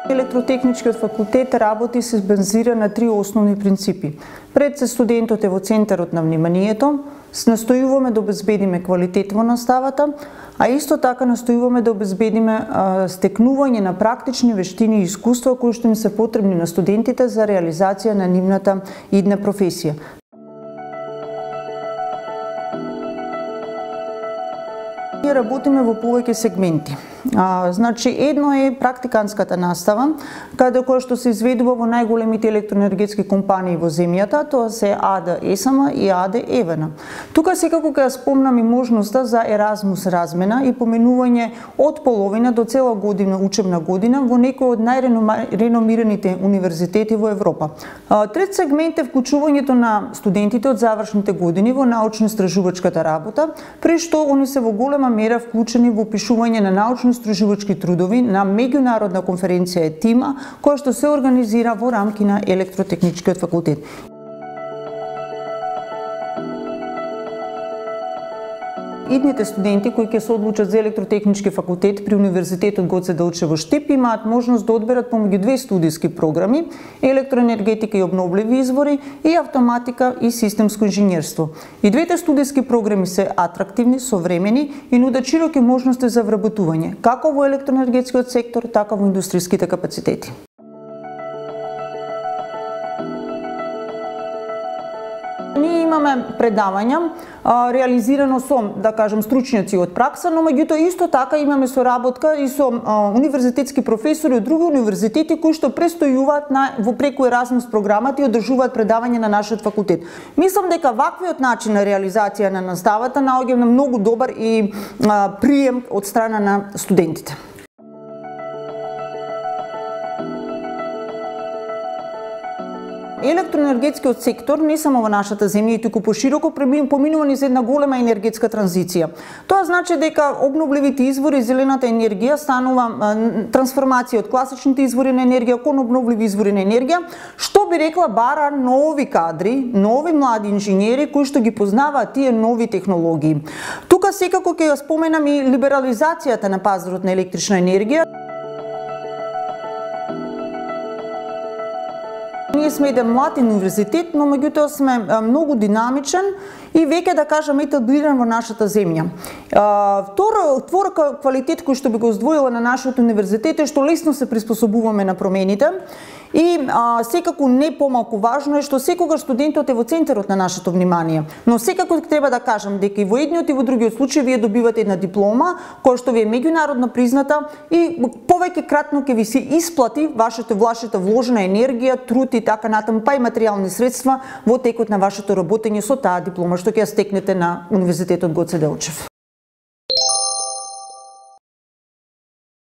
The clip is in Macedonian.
Електротехничкиот факултет работи се базира на три основни принципи. Пред се студентот е во центарот на вниманието, настојуваме да обезбедиме квалитет во наставата, а исто така настојуваме да обезбедиме стекнување на практични вештини и искуства кои што им се потребни на студентите за реализација на нивната идна професија. Ние работиме во повеќе сегменти. Значи, едно е практиканската настава, каде која што се изведува во најголемите електроенергетски компании во земјата, тоа се АД ЕСМ и АД ЕВН. Тука секако ќе спомнам и можноста за Еразмус размена и поменување од половина до цела година, учебна година, во некои од најреномираните универзитети во Европа. Трет сегмент е вклучувањето на студентите од завршните години во научно-истражувачката работа, при што они се во голема мера вклучени во пишување на научно-истражувачки трудови на меѓународна конференција ЕТИМА, која што се организира во рамки на Електротехничкиот факултет. Идните студенти кои ќе се одлучат за електротехнички факултет при Универзитетот Гоце Делчев во Штип имаат можност да одберат помеѓу две студиски програми: електроенергетика и обновливи извори и автоматика и системско инженерство. И двете студиски програми се атрактивни, современи и нудат широки можности за вработување, како во електроенергетскиот сектор, така во индустријските капацитети. Ние имаме предавања реализирано со, да кажем, стручњаци од пракса, но меѓутоа исто така имаме соработка и со универзитетски професори од други универзитети кои што престојуваат во преку Еразмус програмата и одржуваат предавања на нашиот факултет. Мислам дека ваквиот начин на реализација на наставата наоѓа на многу добар и прием од страна на студентите. Електроенергетскиот сектор не само во нашата земја, туку пошироко поминува низ една голема енергетска транзиција. Тоа значи дека обновливите извори, зелената енергија станува трансформација од класичните извори на енергија кон обновливи извори на енергија, што би рекла бара нови кадри, нови млади инженери кои што ги познаваат тие нови технологии. Тука секако ќе ја споменам и либерализацијата на пазарот на електрична енергија. Ние сме еден млад универзитет, но меѓутоа сме многу динамичен и веќе, да кажам, етаблиран во нашата земја. Втор квалитет кој што би го издвоила на нашиот универзитет е што лесно се приспособуваме на промените и секако не помалку важно е што секогаш студентот е во центарот на нашето внимание. Но секако треба да кажам дека и во едниот и во другиот случај вие добивате една диплома која што ви е меѓународно призната и повеќе кратно ќе ви се исплати вашата вложена енергија, труд и така натаму, па и материјални средства во текот на вашето работење со таа диплома што ќе ја стекнете на Универзитетот Гоце Делчев.